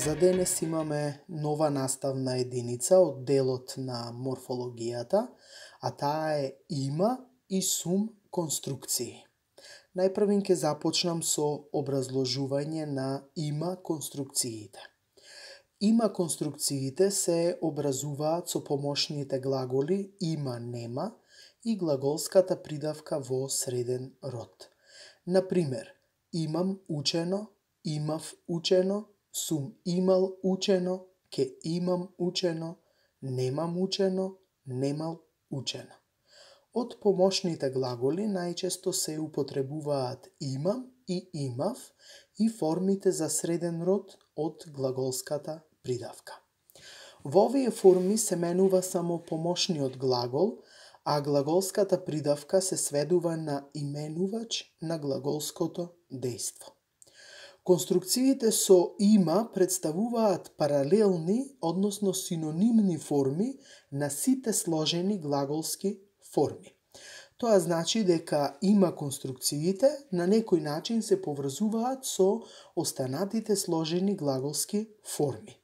За денес имаме нова наставна единица од делот на морфологијата, а таа е има и сум конструкции. Најпрвин ќе започнам со образложување на има конструкциите. Има конструкциите се образуваат со помошните глаголи има, нема и глаголската придавка во среден род. Например, имам учено, имав учено, сум имал учено, ке имам учено, немам учено, немал учено. Од помошните глаголи најчесто се употребуваат имам и имав и формите за среден род од глаголската придавка. Во овие форми се менува само помошниот глагол, а глаголската придавка се сведува на именувач на глаголското дејство. Конструкциите со има представуваат паралелни, односно синонимни форми на сите сложени глаголски форми. Тоа значи дека има конструкциите на некој начин се поврзуваат со останатите сложени глаголски форми.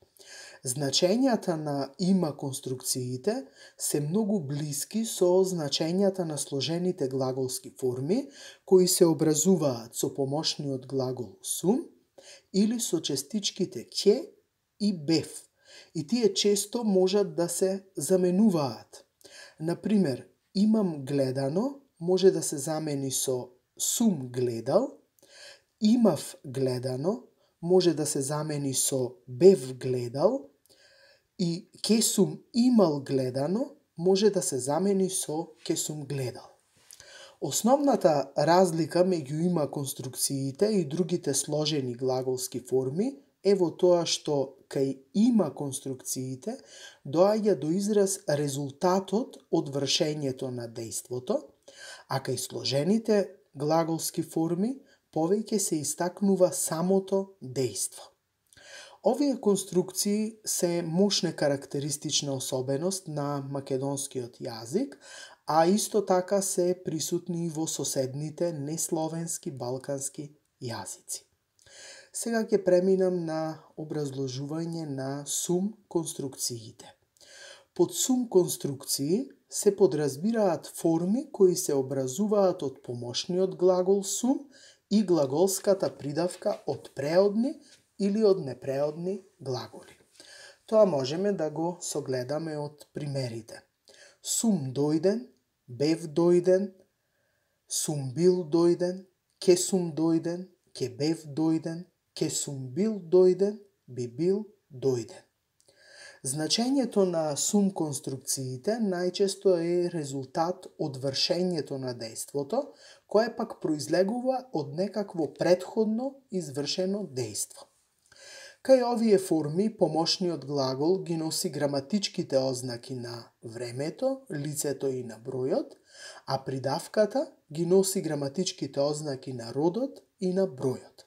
Значењата на има конструкциите се многу блиски со значењата на сложените глаголски форми, кои се образуваат со помошниот глагол сум или со частичките ќе и бев, и тие често можат да се заменуваат. Например, имам гледано може да се замени со сум гледал, имав гледано може да се замени со бев гледал и ке сум имал гледано може да се замени со ке сум гледал. Основната разлика меѓу има конструкциите и другите сложени глаголски форми е во тоа што кај има конструкциите доаѓа до израз резултатот од вршењето на дејството, а кај сложените глаголски форми повеќе се истакнува самото дејство. Овие конструкции се мощна карактеристична особеност на македонскиот јазик, а исто така се присутни и во соседните несловенски балкански јазици. Сега ќе преминам на образложување на сум конструкциите. Под сум конструкции се подразбираат форми кои се образуваат од помошниот глагол сум и глаголската придавка од преодни или од непреодни глаголи. Тоа можеме да го согледаме од примерите. Сум дојден, бев дојден, сум бил дојден, ке сум дојден, ке бев дојден, ке сум бил дојден, би бил дојден. Значењето на сум конструкциите најчесто е резултат од вршењето на дејството, кое пак произлегува од некакво претходно извршено дејство. Кај овие форми, помошниот глагол ги носи граматичките ознаки на времето, лицето и на бројот, а придавката ги носи граматичките ознаки на родот и на бројот.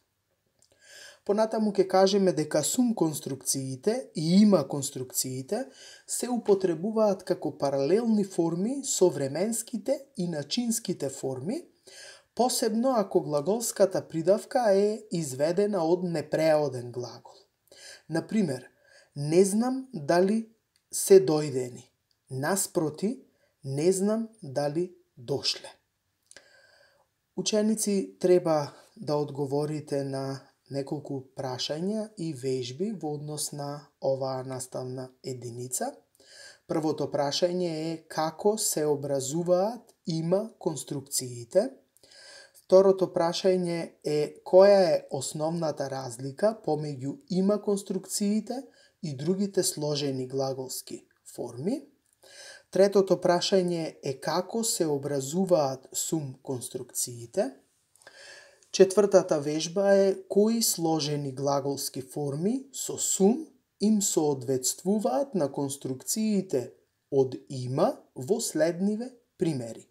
Понатаму ќе кажеме дека сум конструкциите и има конструкциите се употребуваат како паралелни форми со временските и начинските форми, посебно ако глаголската придавка е изведена од непреоден глагол. Например, не знам дали се дојдени, наспроти, не знам дали дошле. Ученици треба да одговорите на неколку прашања и вежби во однос на оваа наставна единица. Првото прашање е како се образуваат има конструкциите. Второто прашање е која е основната разлика помеѓу има конструкциите и другите сложени глаголски форми. Третото прашање е како се образуваат сум конструкциите. Четвртата вежба е кои сложени глаголски форми со сум им соодветствуваат на конструкциите од има во следниве примери.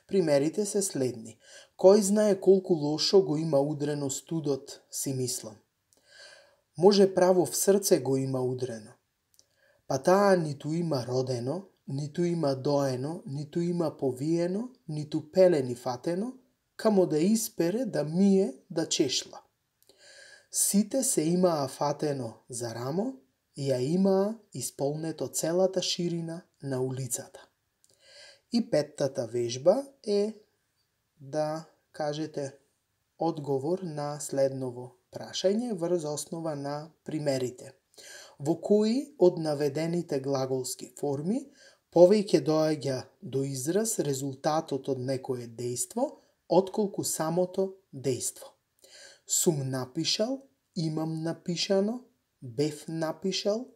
Примерите се следни. Кој знае колку лошо го има удрено студот, си мислам. Може право в срце го има удрено. Па таа ниту има родено, ниту има доено, ниту има повиено, ниту пелени фатено, камо да испере, да мие, да чешла. Сите се имаа фатено за рамо и ја имаа исполнето целата ширина на улицата. И петтата вежба е да кажете одговор на следново прашање врз основа на примерите. Во кои од наведените глаголски форми повеќе доаѓа до израз резултатот од некое дејство, отколку самото дејство? Сум напишал, имам напишано, бев напишал,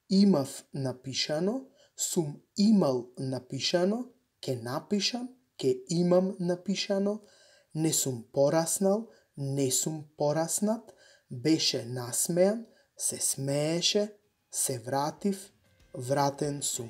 имав напишано, сум имал напишано, ке напишам, ке имам напишано, не сум пораснал, не сум пораснат, беше насмеан, се смееше, се вратив, вратен сум.